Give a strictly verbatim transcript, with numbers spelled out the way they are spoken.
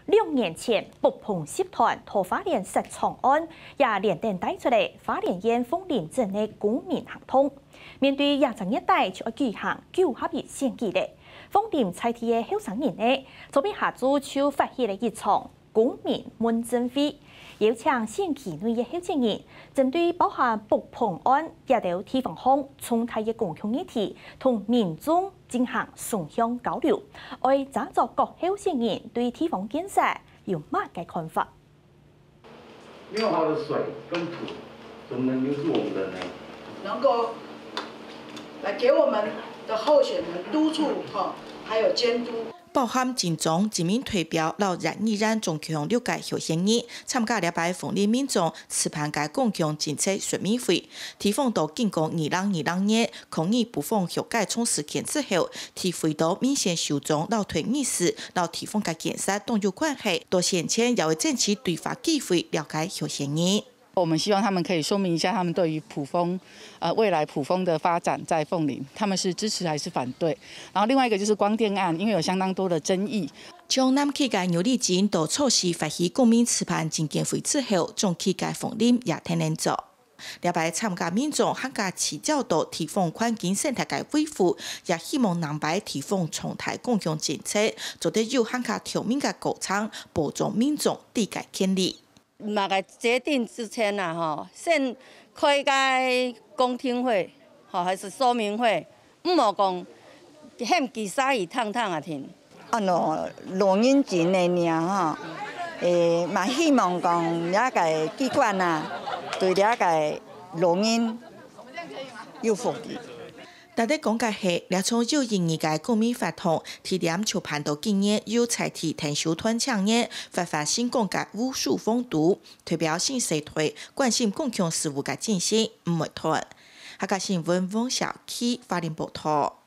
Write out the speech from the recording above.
兩年前，北豐集團到花蓮設廠案，也連帶帶出來花蓮縣鳳林鎮个公民行動。面對這隻月底就愛舉行九合一選舉咧，鳳林在地个後生人呢，昨晡下晝就發起了一場公民問政會，邀請選區內个候選人，針對包含北豐案這兜地方項重大个公共議題，同民眾 進行雙向交流，愛斟酌各候選人對地方建設有麼个看法。沒有好的水跟土，怎麼能留住我們人呢？能夠來給我們的候選人督促哈，還有監督。包含金鐘、金門代表摎縣議員總共六个候選人參加這擺鳳林民眾 主辦个公共政策說明會。地方在經過二零二零年抗議北豐學界長時間之後，體會到民選首長摎代議士摎地方个建設當有關係，到現場也會爭取對話機會了解候選人。我們希望他們可以說明一下他們對於埔豐，呃，未來埔豐的發展在鳳林，他們是支持還是反對？然後另外一個就是光電案，因為有相當多的爭議， 從南區个牛犁井到初時發起公民主辦政見會之後，中區个鳳林也跈等做。這擺參加民眾還較聚焦到地方環境生態个維護，也希望南擺地方重大公共政策做得有還較透明个過程，保障民眾知个權利。麼个決定之前啊，吼，先開个公聽會，吼，還是說明會，毋好講喊佢沙魚燙燙啊停。 安到老人錢个領吼，誒，嘛希望講這个機關啊，對這个老人有福利。值得講个係，這場有意義个公民活動，地點就辦到今年由在地𢯭手團青年發發成功个武術風度，代表新世代關心公共事務个精神毋會斷。客家新聞黃小琪花蓮報導。